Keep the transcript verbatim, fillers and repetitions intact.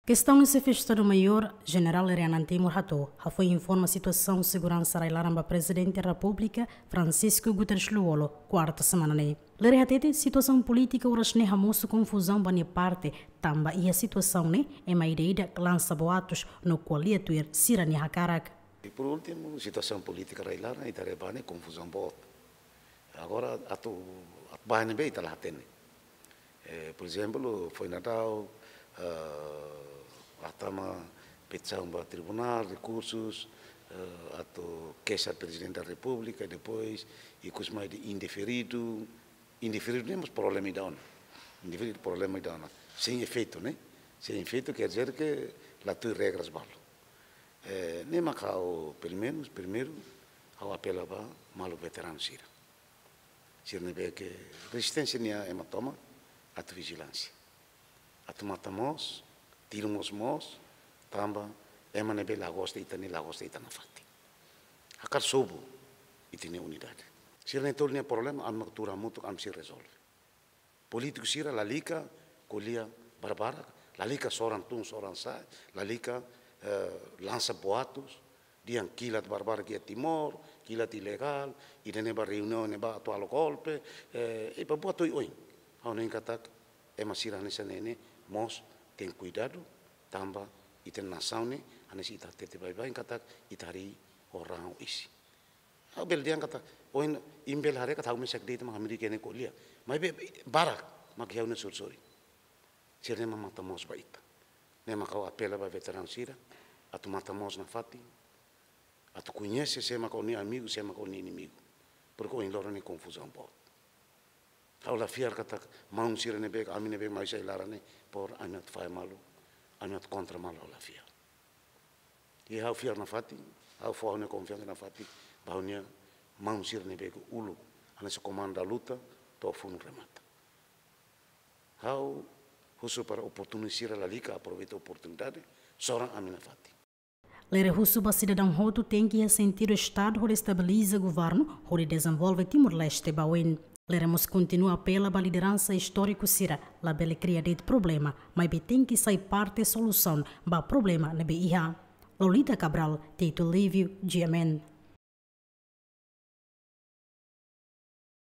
Kestaun Xefe Estadu-Maiór, Jenerál Lere Anan Timur hato'o, hafoin informa situasaun seguransa rai-laran ba Prezidente Repúblika, Francisco Guterres Lú-Olo, kuarta semana ne'e. Lere hatete situasaun polítika oras ne'e hamosu konfuzaun ba nia parte, tanba iha situasaun ne'e, ema ida-idak lansa boatus no ko'alia tuir sira-nia hakarak. E por últimu, situasaun polítika rai-laran, ita haree ba ne'e konfuzaun boot. Agora, atu, atu ba ne'ebé ita la hatene. Eh, por ezemplu, foin daudaun, eh, atu tama petisaun ba tribunál, rekursus, eh, atu keixa Prezidente da Repúblika, depois, ikus mai de indeferidu. Indeferidu ne'e mós problema ida ona. Indeferidu problema ida ona. Sein efeitu, ne'e? Sein efeitu quer dizer que la tuir regras balu. Eh, ne'e mak ha'u, pelumenus, primeiru, ha'u apela ba maluk veteranu sira. Sira ne'ebé ke rezisténsia nia ema tomak, atu vijilánsia. Atu matan moos, tilun mós moos, tanba ema ne'ebé la gosta ita ne'e la gosta ita nafatin. Hakarak sobu ita-nia unidade. Sira ne'e tolu nia problema, ami mak tuur hamutuk, ami sei rezolve. Polítiku sira lalika ko'alia barbarak, lalika soran tun soran sa'e, lalika, eh, lansa boatus, dehan kilat barbarak iha Timor, kilat ilegál, ida-ne'e ba reuniaun ne'ebá atu halo golpe, eh, e ba buat oioin. Ha'u hanoin katak, ema sira hanesan ne'e ne'e, mós tenke kuidadu, tanba ita-nia nasaun ne'e, hanesan ita hatete baibain katak, ita harii ho raan ho isin. Ha'u bele dehan katak, ohin imi bele haree katak ha'u mesak de'it mak hamriik iha ne'e ko'alia. Maibé barak mak iha ha'u-nia sorin-sorin. Sira ne'e mak matan moos ba ita. Ne'e mak ha'u apela ba veteranu sira, atu matan moos nafatin, atu koñese sé mak ó-nia amigu, sé mak ó-nia inimigu. Porke ohin loron ne'e konfuzaun boot. Ha'u la fiar katak maun sira ne'ebé, ami ne'ebé mai husi rai-laran ne'e, por ami atu fahe malu, ami atu kontra malu, ha'u la fiar. I ha'u fiar nafatin, ha'u fó ha'u-nia konfiansa nafatin ba ha'u-nia maun sira ne'ebé ke uluk, hanesan komandu da luta, to'o funu remata. Ha'u husu para oportunista sira lalika aproveita oportunidade, soran ami nafatin. Lere husu ba sidadaun hotu tenke iha sentidu Estadu hodi estabiliza governu, hodi dezenvolve Timor-Leste ba oin. Lere mós kontinua apela ba lideransa istóriku sira, labele kria de'it problema, maibé tenke sai parte solusaun ba problema ne'ebé iha. Lolita Cabral, Tito Livio, G M N.